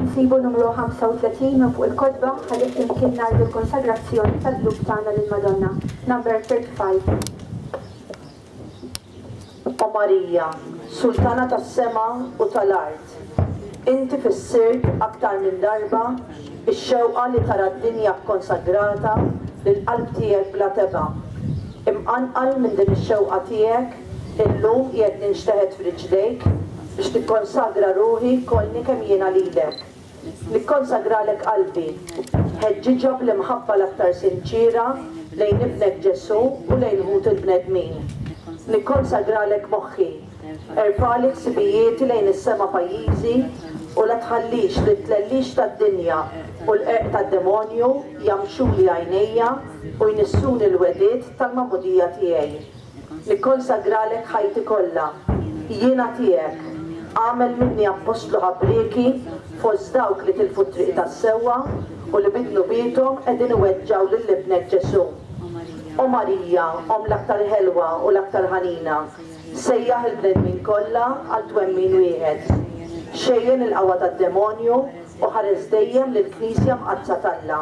Insibu numru 35 minn fuq il-kotba ħalli flimkien ngħidu l-konsagrazzjoni tal-qlub tagħna lill-Madonna. Number 35. O Marija, Sultana tas-sema u tal-art, inti fissirt aktar minn darba x-xewqa li tara d-dinja kkonsagrata lill-Qalb tiegħek bla tebgħa. Imqanqal minn din ix-xewqa tiegħek, illum qiegħed ninxteħet f'riġlejk biex nikkonsagra ruħi kollni kemm jiena lilek. Nikkonsagralek qalbi. Ħeġġiġha bl-imħabba l-aktar sinċiera lejn Ibnek Ġesù u lejn ħut il-bnedmin. Nikkonsagralek moħħi. Erfagħli ħsibijieti lejn is-sema pajjiżi u la tħallix li t-tlellix tad-dinja u l-qerq tad-demonju jgħammxuli għajnejja u jnissuni l-wegħdiet tal-magħmudija tiegħi. Nikkonsagralek ħajti kollha. Jiena tiegħek. Agħmel minni appostlu ħabrieki fost dawk li tilfu t-triq tas-sewwa u li bi dnubiethom qegħdin iweġġgħu lil Ibnek Ġesù. O Marija, Omm l-aktar ħelwa u l-aktar ħanina, sejjaħ il-bnedmin kollha għal twemmin wieħed. Xejjen il-qawwa tad-demonju u ħares dejjem lill-Knisja Mqaddsa t'Alla.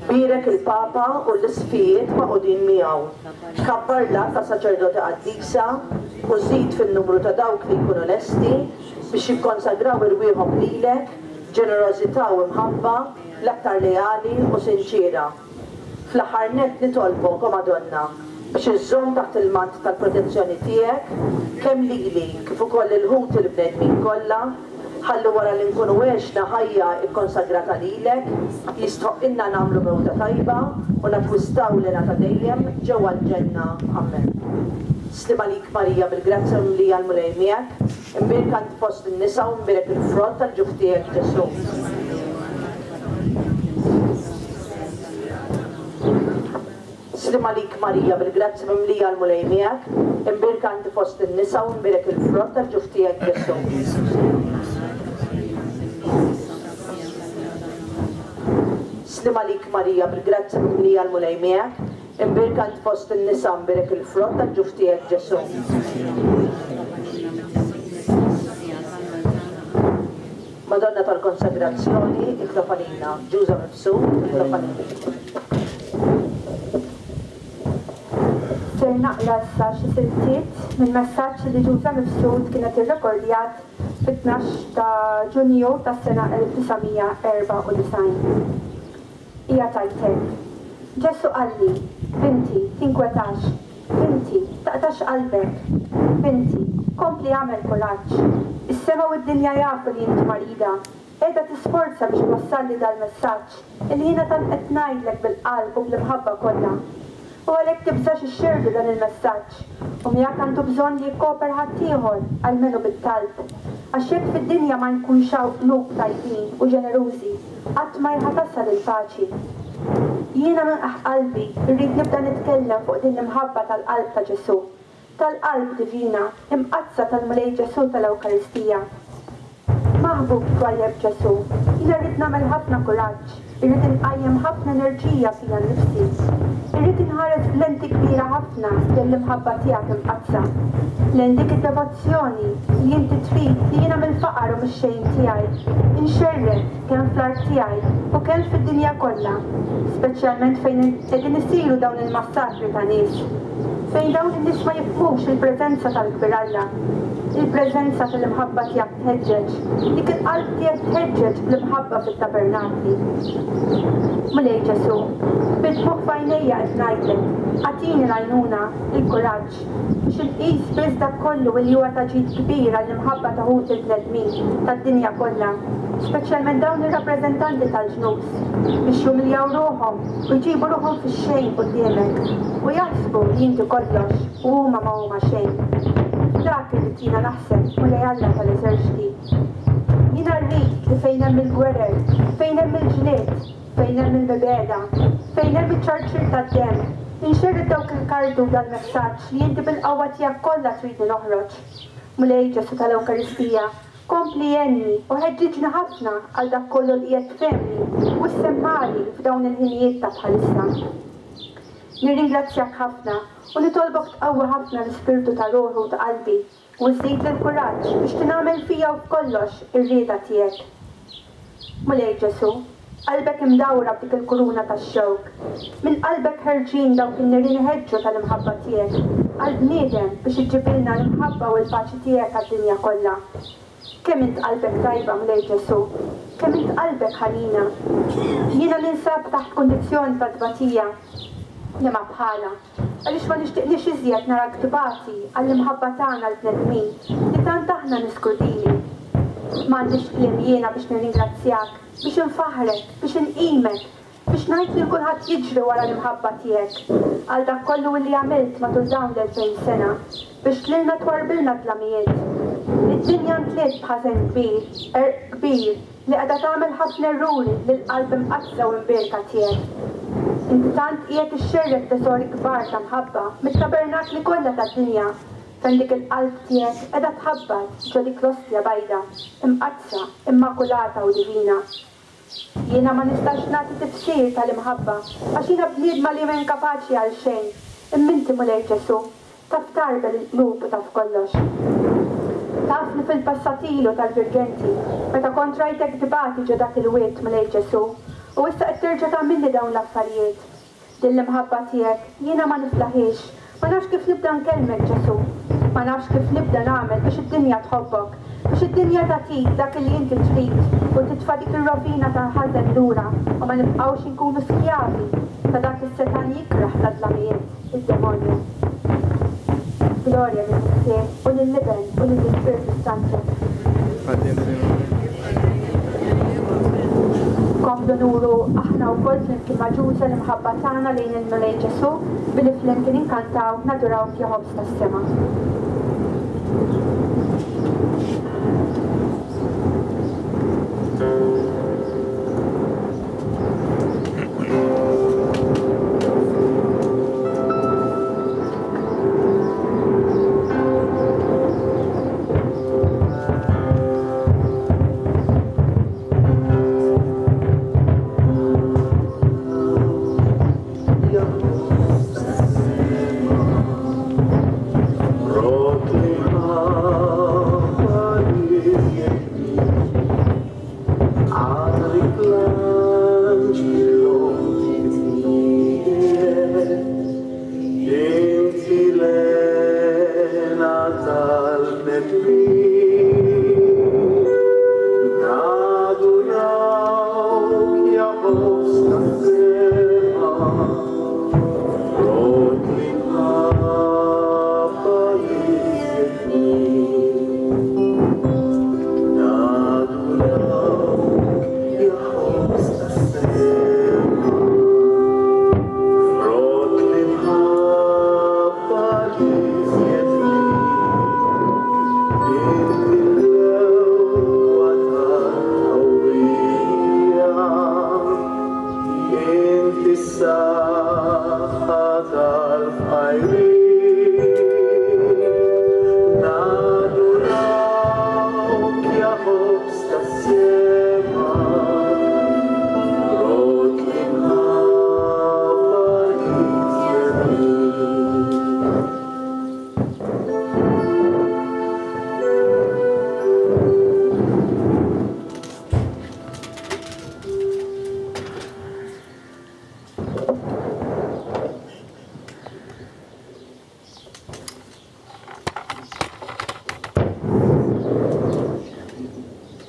Bierek il-Papa u l-Isqfijiet magħqudin miegħu. Kabbar l-għadd ta' saċerdoti qaddisa u żid fin-numru ta' dawk li jkunu lesti biex jikkonsagraw irwieħhom lilek b'ġenerożità u mħabba l-aktar leali u sinċiera. Fl-aħħar nett nitolbok, o Madonna, biex iżżomm taħt il-mant tal-protezzjoni tiegħek kemm lili kif ukoll lil ħuti l-bnedmin kollha, Ħalli wara li nkunu għexna ħajja kkonsagrata lilek, jistħoqqilna nagħmlu mewta tajba u nakkwistaw l-hena ta' dejjem ġewwa l-ġenna. Ammen. Sliem għalik Marija bil-grazzja mimlija l-Mulej miegħek, imbierka int fost in-nisa u mbierek il-frott tal-ġuf tiegħek Ġesù. Sliem għalik Marija bil-grazzja mimlija l-Mulej miegħek, imbierka inti fost in-nisa u mbierek il-frott tal-ġuf tiegħek Ġesù. Sliem għalik Marija bil-grazzja mimlija l-Mulej miegħek, imbierka int fost in-nisa u mbierek il-frott tal-ġuf tiegħek Ġesù. Madonna tal-Konsagrazzjoni, itlob għalina. Ġuża Mifsud, itlob għalina. Ser naqra issa xi siltiet minn messaġġ li Ġuża Mifsud kienet irrekordjat fit-tnax ta' Ġunju tas-sena 1994. Hija tgħid hekk, Ġesù qalli, Binti, tinkwetax, Binti, taqtax qalbek. Binti, kompli agħmel kuraġġ. Is-sema u d-dinja jafu li inti marida. Qiegħda tisforza biex twassalli dal-messaġġ illi jiena tant qed ngħidlek bil-qalb u bl-imħabba kollha. U għalhekk tibżax ixxerrdu dan il-messaġġ. U miegħek għandu bżonn li jikkopera ħaddieħor, almenu bit-talb. Għax jekk fid-dinja ma jkunx hawn qlub tajbin u ġenerużi, qatt ma hi ħa tasal il-paċi. Jiena minn qiegħ qalbi rrid nibda nitkellem fuq din l-imħabba tal-Qalb ta' Ġesù, tal-Qalb Divina, Imqaddsa tal-Mulej Ġesù tal-Ewkaristija. Maħbub twajjeb Ġesù, jiena rrid nagħmel ħafna kuraġġ, irrid inqajjem ħafna enerġija fija nnifsi. Irrid inħares b'lenti kbira ħafna lejn l-imħabba tiegħek imqaddsa, lejn dik id-devozzjoni li inti trid li jiena mill-faqar u mix-xejn tiegħi nxerred kemm fl-art tiegħi u kemm fid-dinja kollha, speċjalment fejn qegħdin isiru dawn il-massakri ta' nies, fejn dawn in-nies ma jifhmux il-preżenza tal-Kbir Alla. Il-preżenza tal-imħabba tiegħek tħeġġeġ, dik il-qalb tiegħek tħeġġeġ bl-imħabba fit-tabernakli. Mulej Ġesù, bid-dmugħ f'għajnejja qed ngħidlek, agħtini l-għajnuna, il-kuraġġ, Biex inqis biss dak kollu illi huwa ta' ġid kbir għall-imħabba ta' ħuti l-bnedmin tad-dinja kollha, speċjalment dawn ir-rappreżentanti tal-ġnus, biex jumiljaw ruħhom u jġibu ruħhom fix-xejn quddiemek, u jaħsbu li inti kollox u huma ma huma xejn. F'dak irrid jiena naħseb, Mulej Alla tal-eżerċti. Jiena rrid li fejn hemm il-gwerer, fejn hemm il-ġlied, Fejn hemm il-mibegħda, fejn hemm iċ-ċarċir tad-demm, inxerred dawk il-karti u dal-messaġġ li inti bil-qawwa tiegħek kollha tridni noħroġ. Mulej Ġesù tal-Ewkaristija, kompli għenni u ħeġġiġni ħafna għal dak kollu li qiegħed tfehmni u ssemmagħli f'dawn il-ħinijiet ta' bħalissa. Nirringrazzjak ħafna u nitolbok tqawwi ħafna l-ispirtu ta' ruħi u ta' qalbi. U żżidli l-kuraġġ biex tingħamel fija u f'kollox ir-rieda tiegħek. Mulej Ġesù, qalbek imdawra b'dik il-kuruna tax-xewk, minn qalbek ħerġin dawk in-nirien iħeġġu tal-imħabba tiegħek għall-bniedem biex iġġibilna l-imħabba u l-paċi tiegħek għad-dinja kollha. Kemm int qalbek tajba, Mulej Ġesù! Kemm int qalbek ħanina! Jiena ninsab taħt kundizzjoni ta' tbatija li ma bħalha. Għaliex ma nixtieqniex iżjed narak tbati għall-imħabba tagħna l-bnedmin li tant aħna nies krudili. M'għandix kliem jiena biex nirringrazzjak, biex infaħħrek, biex inqimek, biex ngħid lil kulħadd jiġri wara l-imħabba tiegħek, għal dak kollu illi għamilt matul dawn l-2000 sena biex lilna twarrbilna d-dlamijiet. Id-dinja ntliet b'ħażen kbir, qerq kbir, Li qiegħda tagħmel ħafna erruri lill-Qalb Imqaddsa u Imbierka tiegħek. Inti tant qiegħed ixxerred teżori kbar ta' mħabba mit-tabernakli kollha tad-dinja fejn dik il-Qalb tiegħek qiegħda tħabbat ġo dik l-Ostja bajda, imqaddsa, immakulata u divina. Jiena ma nistax nagħti tifsir tal-imħabba għax jiena bniedma li m'inkapaċi għal xejn, imma inti Mulej Ġesù, Taf tgħarbel il-qlub u taf kollox. Taf li fil-passat ilu tal-Virgenti, meta kont rajtek tbati ġo dak il-wied, Mulej Ġesù, u issa qed terġa' tagħmilli dawn l-affarijiet. Din l-imħabba tiegħek, jiena ma niflaħhiex. Ma nafx kif nibda nkellmek, Ġesù. Ma nafx kif nibda nagħmel biex id-dinja tħobbok, biex id-dinja tagħtik dak li inti trid u titfa' dik ir-rovina tal-ħażen lura u ma nibqgħux inkunu skjavi ta' dak is-setgħan jikrah tad-dlamijiet. id-demonju. Glorja lill-Missier, u lill-Iben, u lill-Ispirtu s-Santu. Komplu nuru aħna wkoll flimkien ma' Ġuża l-imħabba tagħna lejn il-Mulej Ġesù billi flimkien inkantaw Nadurawk ja Ħobż tas-Sema.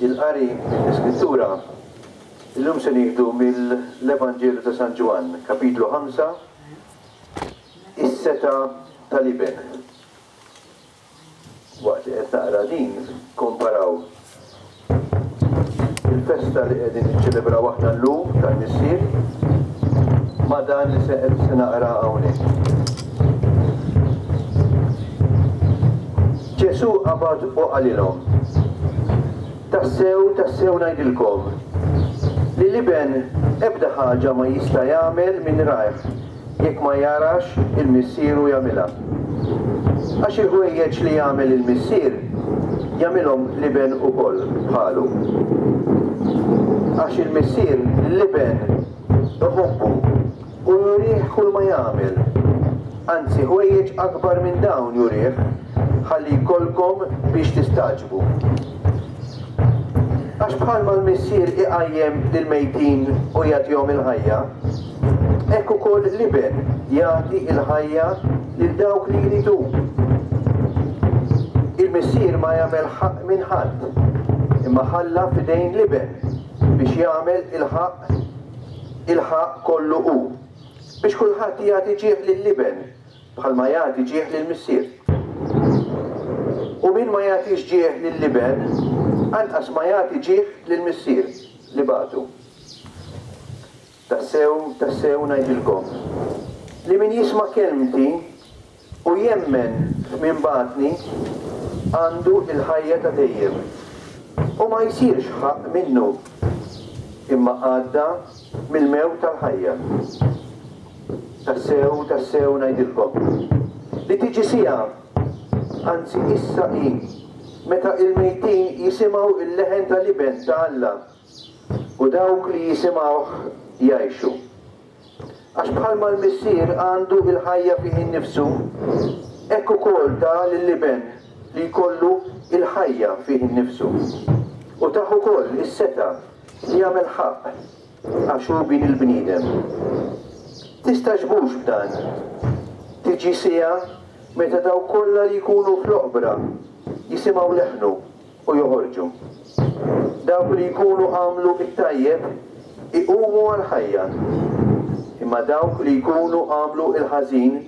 Il-qari mill-Iskrittura illum se nieħdu mill-Evanġelju ta' San Ġwann, kapitlu 5, is-setgħa tal-Iben. Waqt li qed naqra din, komparaw il-festa li qegħdin niċċelebraw aħna llum tal-Missier ma' dan li se qed se naqra hawnhekk. Ġesù qabad u qalilhom, Tassew, tassew ngħidilkom, li l-Iben ebda ħaġa ma jista' jagħmel minn rajh, jekk ma jarax il-Missieru jagħmilha. Għax il-ħwejjeġ li jagħmel il-Missier, jagħmilhom l-Iben ukoll bħalu. Għax il-Missier lill-Iben iħobbu u jurih kulma jagħmel, anzi ħwejjeġ akbar minn dawn jurih, ħalli jkollkom biex tistagħġbu. Għax bħalma l-Missier iqajjem lill-mejtin u jagħtihom il-ħajja, hekk ukoll l-Iben jagħti l-ħajja lil dawk li jrid hu. Il-Missier ma jagħmel ħaqq minn ħadd, imma ħalla f'idejn l-Iben biex jagħmel il-ħaqq il-ħaqq kollu hu, biex kulħadd jagħti ġieħ lill-Iben bħalma jagħti ġieħ lill-Missier. U min ma jagħtix ġieħ lill-Iben, anqas ma jagħti ġieħ lill-Missier li bagħtu. Tassew, tassew ngħidilkom, li min jisma' kelmti u jemmen f'min bagħatni, għandu l-ħajja ta' dejjem, u ma jsirx ħaqq minnu, imma għadda mill-mewt għall-ħajja. Tassew, tassew ngħidilkom, li tiġi siegħa, anzi issa hi, meta l-mejtin jisimgħu l-leħen tal-Iben ta' Alla, u dawk li jisimgħuh jgħixu. Għax bħalma l-Missier għandu l-ħajja fih innifsu, hekk ukoll ta lill-Iben li jkollu l-ħajja fih innifsu. U tah ukoll is-setgħa li jagħmel ħaqq, għax hu Bin il-bniedem. Tistagħġbux b'dan. Tiġi siegħa meta dawk kollha li jkunu fl-oqbra jisimgħu leħnu u joħorġu. Dawk li jkunu għamlu t-tajjeb iqumu għall-ħajja, imma dawk li jkunu għamlu l-ħażin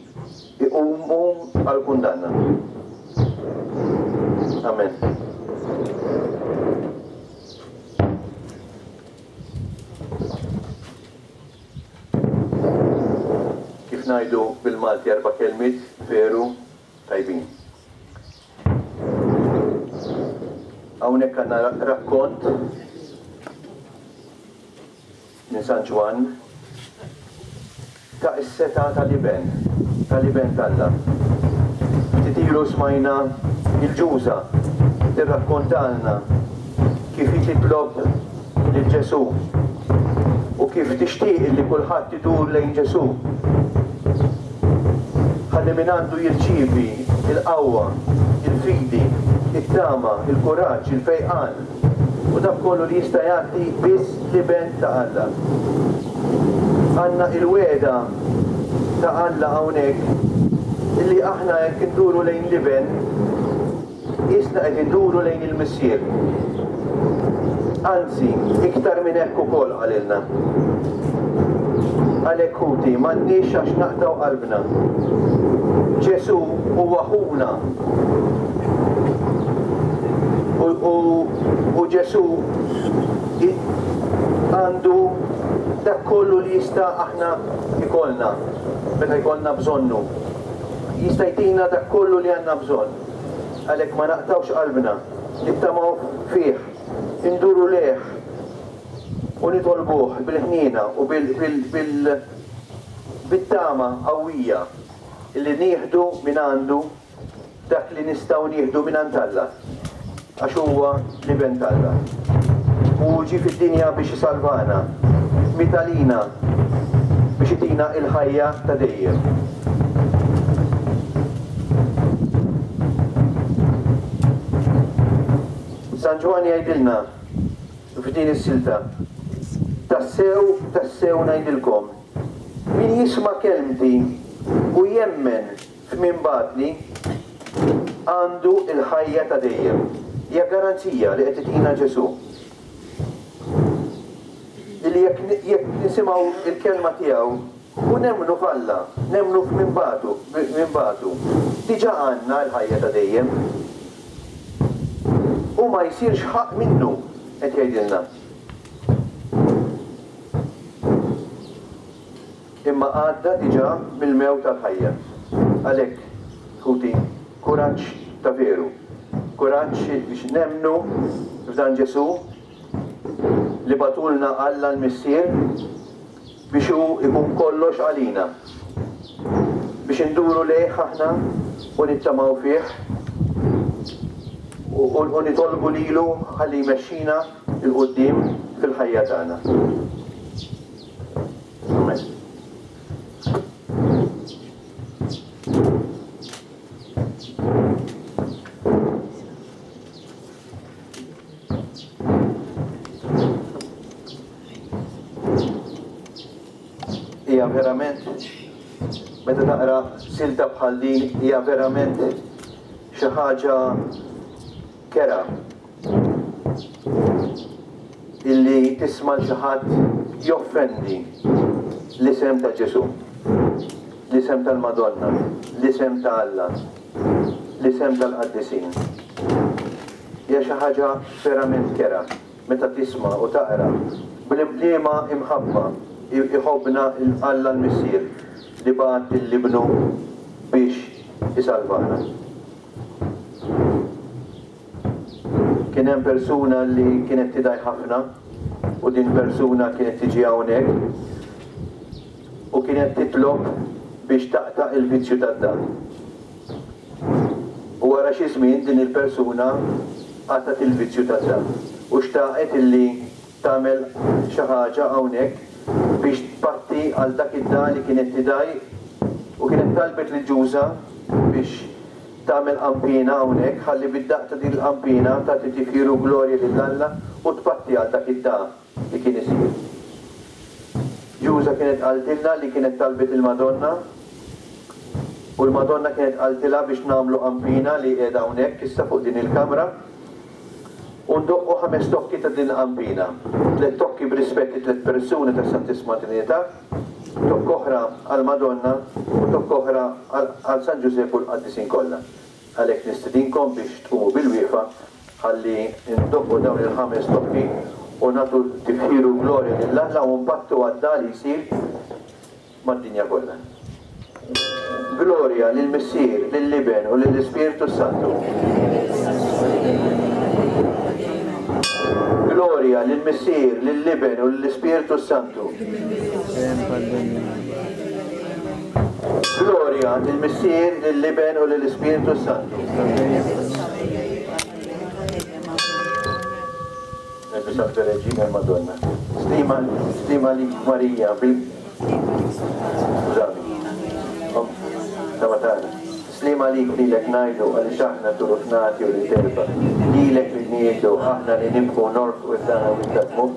iqumu għall-kundanna. Amen. Kif ngħidu bil-Malti erba' kelmiet veru tajbin. Hawnhekk għandna rakkont minn San Ġwann ta' is-setgħa tal-Iben, tal-Iben t'Alla. Ftit ilu smajna il-Ġuża tirrakkontalna kif hi titlob lil Ġesù u kif tixtieq li kulħadd idur lejn Ġesù. Ħalli mingħandu jirċievi l-qawwa, il-fidi, it-tama, il-kuraġġ, il-fejqan u dak kollu li jista' jagħti biss l-Iben ta' Alla. Għandna il-wegħda ta' Alla hawnhekk illi aħna jekk induru lejn l-Iben, Qisna qed induru lejn il-Missier. Anzi, iktar minn hekk ukoll qalilna. Għalhekk ħuti, m'għandniex għax naqtgħu qalbna. Ġesù huwa ħuna. U, u, u Ġesù għandu dak kollu li jista' aħna ikollna meta jkollna bżonnu. Jista' jtina dak kollu li għandna bżonn. Għalhekk ma naqtgħux qalbna, nittamaw fih, induru lejh u nitolbuh bil-ħniena u bit-tama qawwija li nieħdu mingħandu dak li nistgħu nieħdu mingħand Alla, għax huwa l-Iben t'Alla. U hu ġie fid-dinja biex isalvana, miet għalina biex itina l-ħajja ta' dejjem. San Ġwann jgħidilna f'din is-silta, Tassew, tassew ngħidilkom, min jisma' kelmti u jemmen f'min bagħatni, għandu l-ħajja ta' dejjem. Hija garanzija li qed itina Ġesù. Illi jekk jekk nisimgħu l-kelma tiegħu u nemmnu f'Alla, nemmnu f'min bagħtu, min bagħtu, diġà għandna l-ħajja ta' dejjem. U ma jsirx ħaqq minnu, qed jgħidilna. Imma għadda diġà mill-mewt għall-ħajja. Għalhekk, ħuti, kuraġġ ta' veru. Kuraġġ biex nemmnu f'dan Ġesù li bagħtulna Alla l-Missier biex hu jkun kollox għalina. Biex induru lejh aħna u nittamaw fih u nitolbu lilu ħalli jmexxina 'l quddiem fil-ħajja tagħna. Amen. Hija verament, meta taqra silta bħal din, hija verament xi ħaġa kerha illi tisma' 'l xi ħadd joffendi l-isem ta' Ġesù, l-isem tal-Madonna, l-isem ta' Alla, l-isem tal-qaddisin. Hija xi ħaġa verament kerha meta tisma' u taqra b'liema imħabba jħobbna Alla l-Missier li bagħat lil Ibnu biex isalvana. Kien hemm persuna li kienet tidgħi ħafna u din persuna kienet tiġi hawnhekk u kienet titlob biex taqta' il-vizzju tad-dagħa. U wara xi żmien din il-persuna qatgħet il-vizzju tad-dagħa u xtaqet illi tagħmel xi ħaġa hawnhekk biex tpatti għal dak id-dagħa li kienet tidgħi u kienet talbet lil Ġuża biex Tagħmel qanpiena hawnhekk ħalli bid-daqq ta' din il-qanpiena tagħti tifħir u glorja lil Alla u tpatti għal dak id-dagħa li kien isir. Ġuża kienet qaltilna li kienet talbet il-Madonna u l-Madonna kienet qaltilha biex nagħmlu qanpiena li qiegħda hawnhekk issa fuq din il-kamra u ndoqqu ħames tokki ta' din il-qanpiena, tliet tokki b'rispett it-tliet persuni tas-Santissima Trinità, Tokk oħra għall-Madonna u tokk oħra għal San Ġużepp u l-qaddisin kollha. Għalhekk nistedinkom biex tqumu bilwieqfa ħalli ndoqqu dawn il-ħames tokki u nagħtu tifħir u glorja lil Alla u npattu għad-dagħa li jsir mad-dinja kollha. Glorja lill-Missier, lill-Iben u lill-Ispirtu s-Santu. Glorja lill-Missier, lill-Iben u lill-Ispirtu s-Santu. Glorja lill-Missier, lill-Iben u lill-Ispirtu s-Santu. Ngħidu Salve Regina Madonna. Stima, stima lik Marija bil Skużani. Sama tagħna. Sliem għalik lilek ngħidu għaliex aħna turufnati u li telfa. Lilek li ngħidu aħna li nibku norfqu id-dana u id-dmugħ.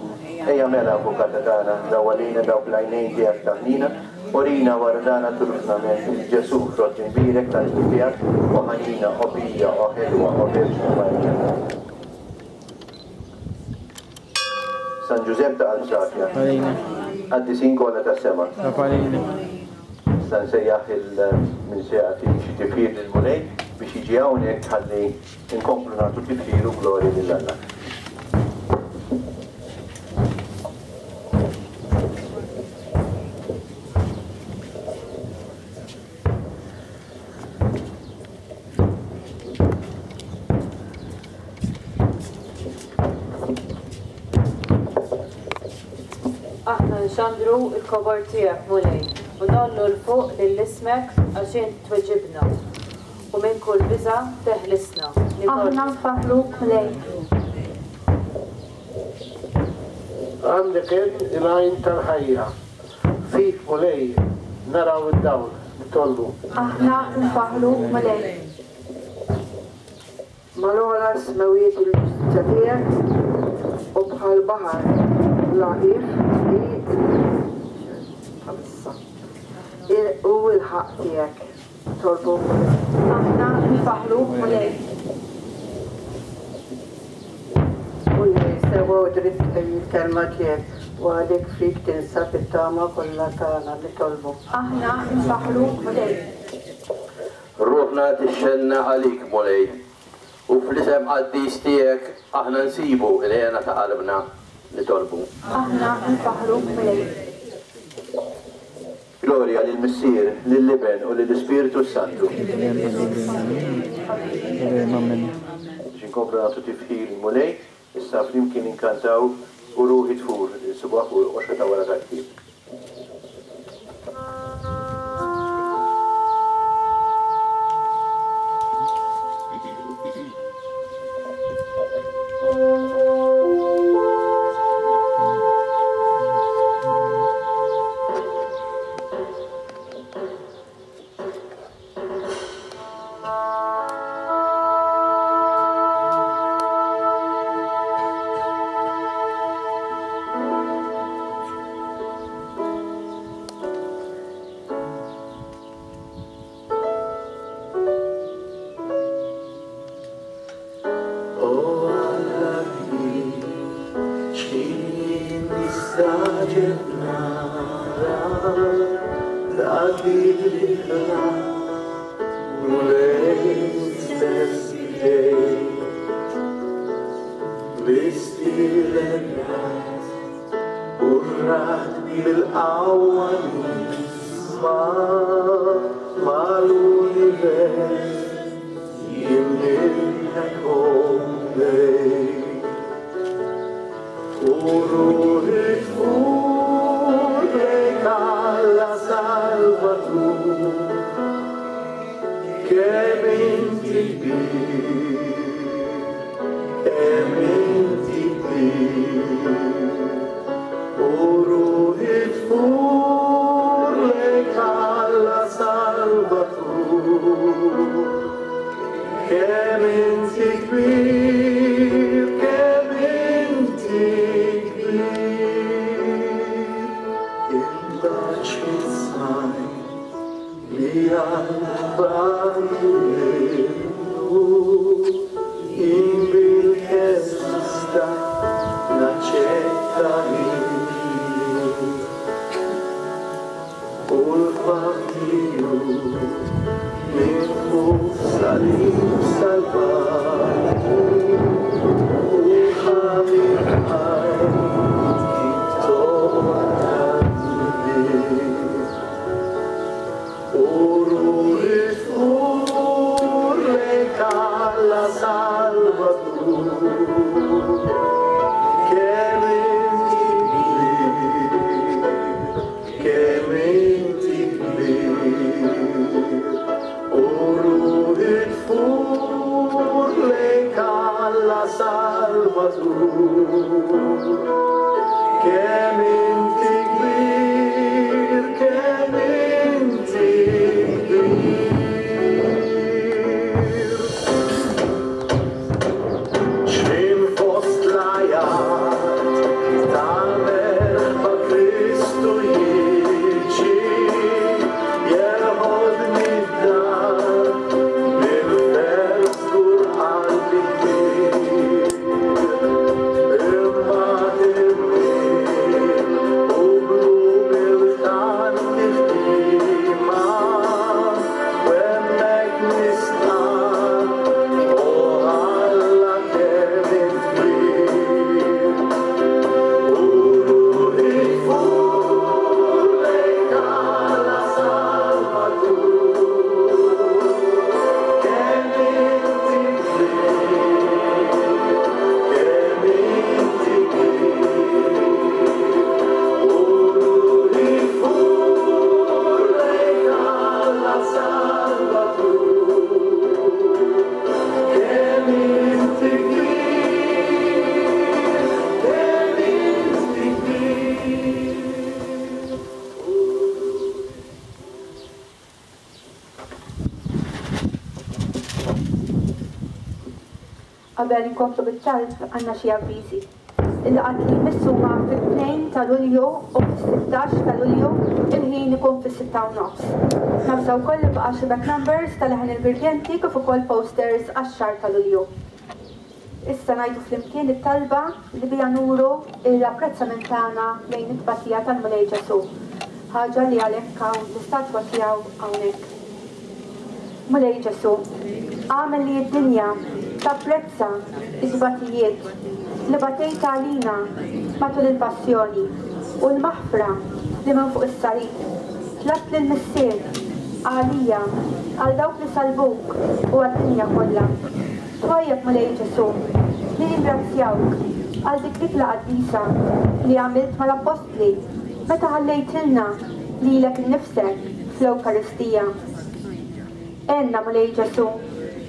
Ejja mela avukata tagħna, dawwalina dawk l-għajnejn tiegħek ta' ħnina, urina wara dana turufnament lil Ġesù frott imbierek tal-ġuf tiegħek, o ħanina, o pija, o ħelwa, o Verġni Marija. San Ġużepp ta' Qalb Safja. Għalina. Qaddisin kollha tas-sema. Itlob għalina. Issa nsejjaħ il min se jagħti xi tifħir lill-Mulej biex jiġi hawnhekk ħalli nkomplu nagħtu tifħir u glorja lil Alla. Aħna nxandru l-kobor tiegħek, Mulej, u ngħollu 'l fuq lil ismek għax int tweġibna, u minn kull biża' teħlisna. Aħna nfaħħruk, Mulej. Għandek int il-għajn tal-ħajja. Fik, Mulej, naraw id-dawl. Nitolbu. Aħna nfaħħruk, Mulej. Mal-ogħla s-smewwiet il-ġustizzja tiegħek, u bħall-baħar bla qiegħ hi l-bħalissa hu l-ħaqq tiegħek. Nitolbu, Mulej. Aħna nfaħħruk, Mulej. Mulej, sewwa u dritt hi l-kelma tiegħek, u għalhekk fik tinsab it-tama kollha tagħna. Nitolbu. Aħna nfaħħruk, Mulej. Ruħna tixxennaq għalik, Mulej, u fl-isem qaddis tiegħek aħna nsibu l-hena ta' qalbna. Nitolbu. Aħna nfaħħruk, Mulej. Glorja lill-Missier, lill-Iben u lill-Ispirtu s-Santu. Biex inkomplu nagħtu tifħir lill-Mulej, issa flimkien inkantaw U Ruħi Tfur li nsibuha fuq il-qoxra ta' wara tal-ktieb. L-għaġeb nara dak li ħlaqt, Mulej stess b'idejk. L-istilel rajt u r-ragħad bil-qawwa nisma' mal-univers jimdieħek o Mulej. U ruħi tfur lejk Alla Salvatur, kemm inti kbir, kemm inti kbir. U ruħi tfur lejk Alla Salvatur, kemm inti kbir, kemm inti kbir. Imbagħad xi smajt li għall-bagħdu minnu, jien bil-kemm stajt naċċetta l-innu. U l-fatt li hu minn fuq salib salvani u ħa minn ħajti t-togħma tal-dnub. U ruħi tfur lejk Alla Salvatur, kemm inti kbir, kemm inti kbir. U ruħi tfur lejk Alla Salvatur, kemm inti kbir, kemm inti kbir. X'ħin fost l-għajat tal-merħba Kristu jiġi, jeħodni d-dar bil-ferħ żgur qalbi ttir. Imbagħad immiel u bl-umiltà ntiħdima, u hemmhekk nistqarr, O Alla kemm int kbir. U ruħi tfur lejk Alla Salvatur, kemm inti kbir, kemm inti kbir. U ruħi tfur lejk Alla Salvatur, kemm inti kbir, kemm inti kbir. Qabel inkomplu bit-talb għandna xi avviżi. Il-laqgħat li jmiss huma fit-2 ta' Lulju u fis-16 ta' Lulju, il-ħin ikun fis-sitta u nofs. Navża wkoll li baqa' xi back numbers ta' Leħen il-Virgenti kif ukoll posters għax-xahar ta' Lulju. Issa ngħidu flimkien it-talba li biha nuru l-apprezzament tagħna lejn it-tbatija tal-Mulej Ġesù, ħaġa li għalhekk hawn l-istatwa tiegħu hawnhekk. Mulej Ġesù, agħmel li d-dinja tapprezza t-tbatijiet li batejt għalina matul il-passjoni u l-maħfra li minn fuq is-salib tlabt lill-Missier għalija, għal dawk li salbuk u għad-dinja kollha. Twajjeb Mulej Ġesù, nirringrazzjawk għal dik l-ikla qaddisa li għamilt mal-appostli meta ħallejtilna lilek innifsek fl-Ewkaristija. Għenna, Mulej Ġesù,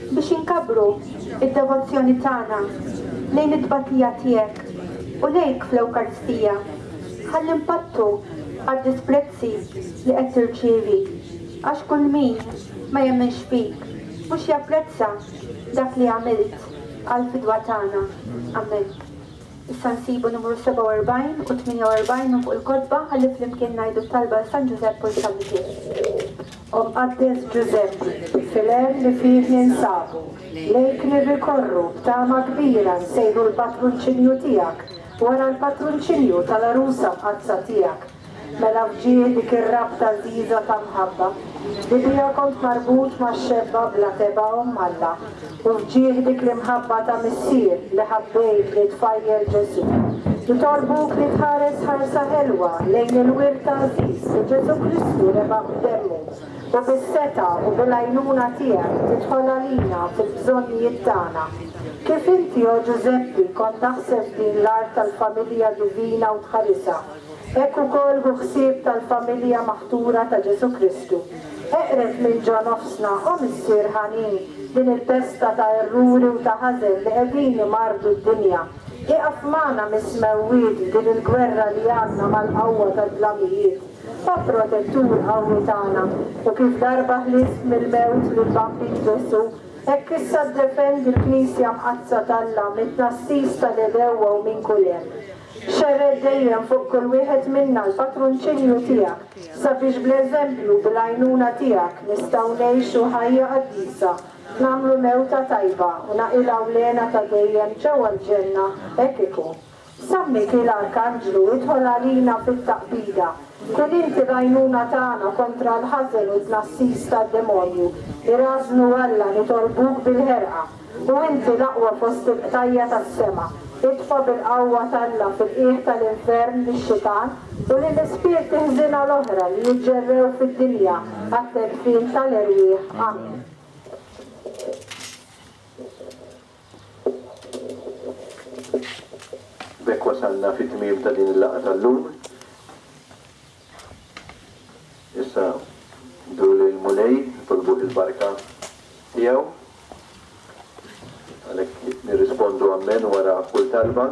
biex inkabbru d-devozzjoni tagħna lejn it-tbatija tiegħek u lejk fl-Ewkaristija, ħalli npattu għad-disprezzi li qed tirċievi, għax kull min ma jemminx fik mhux japprezza dak li għamilt għall-fidwa tagħna. Amen. Issa nsibu numru 47 u 48 minn fuq il-kotba ħalli flimkien ngħidu t-talba għal San Ġużepp u l-San Mikiel. O Mqaddes Ġużeppi, fil-għerf li fih ninsabu, lejk nirrikorru, b'tama kbira nsejħu l-patrunċinju tiegħek. wara l-patrunċinju tal-Għarusa Mqaddsa tiegħek. Mela f'ġieħ dik ir-rabta għażiża ta' mħabba, li biha kont marbut max-xebba bla tebgħa Omm Alla, u f'ġieħ dik l-imħabba ta' missier li ħabbejt lit-tfajjel Ġesù, nitolbuk li tħares ħarsa ħelwa lejn il-wirt għażiż li Ġesù Kristu rebaħ b'demmu, u bis-setgħa u bil-għajnuna tiegħek tidħol għalina fil-bżonnijiet tagħna. Kif inti, o Ġużeppi, kont taħseb f'din l-art tal-familja divina u tħarisha, Hekk ukoll ħu ħsieb tal-familja maħtura ta' Ġesù Kristu. Eqred minn ġo nofsna, o Missier ħanin, din il-pesta ta' erruri u ta' ħażen li qegħdin imarrdu d-dinja. Ieqaf magħna mis-smewwiet f'din il-gwerra li għandna mal-qawwa tad-dlamijiet. O Protettur qawwi tagħna, u kif darba ħlist mill-mewt lill-Bambin Ġesù, hekk issa ddefendi l-Knisja Mqaddsa t'Alla mit-tnassis tal-għedewwa u minn kull hemm. Xerred dejjem fuq kull wieħed minna l-patrunċinju tiegħek, sabiex bl-eżempju u bil-għajnuna tiegħek nistgħu ngħixu ħajja qaddisa, nagħmlu mewta tajba u naqilgħu l-hena ta' dejjem ġewwa l-ġenna. Hekk ikun. San Mikiel Arkanġlu, idħol għalina fit-taqbida. Kun inti l-għajnuna tagħna kontra l-ħażen u t-tnassis tad-demonju. Irażżnu Alla, nitolbuk bil-ħerqa. U inti l-aqwa fost il-qtajja' tas-sema, itfa' bil-qawwa t'Alla fil-qiegħ tal-infern lix-xitan u lill-ispirti ħżiena l-oħra li jiġġerrew fid-dinja għat-telfien tal-erwieħ. Amen. B'hekk wasalna fit-tmiem ta' din il-laqgħa tal-lum. Issa nduru lejn il-Mulej, nitolbuh il-barka tiegħu. Għalhekk nirrispondu Ammen wara kull talba.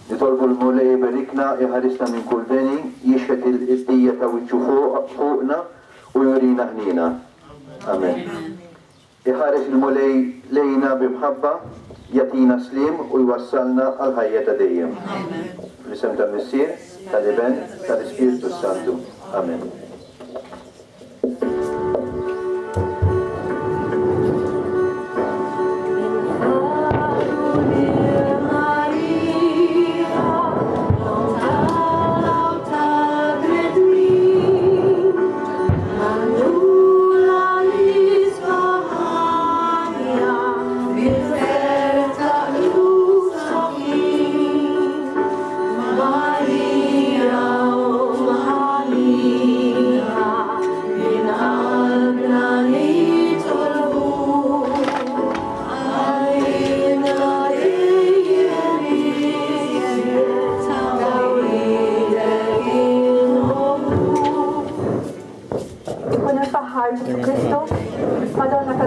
Nitolbu l-Mulej iberikna, iħarisna minn kull deni, jixħet il-dija ta' wiċċu fuqna u jurina ħniena. Amen. Iħares il-Mulej lejna bi mħabba, jagħtina s-sliem u jwassalna għall-ħajja ta' dejjem. Fl-isem tal-Missier, tal-Iben, tal-Ispirtu s-Santu. Amen. Ikun imfaħħar Ġesù Kristu, Madonna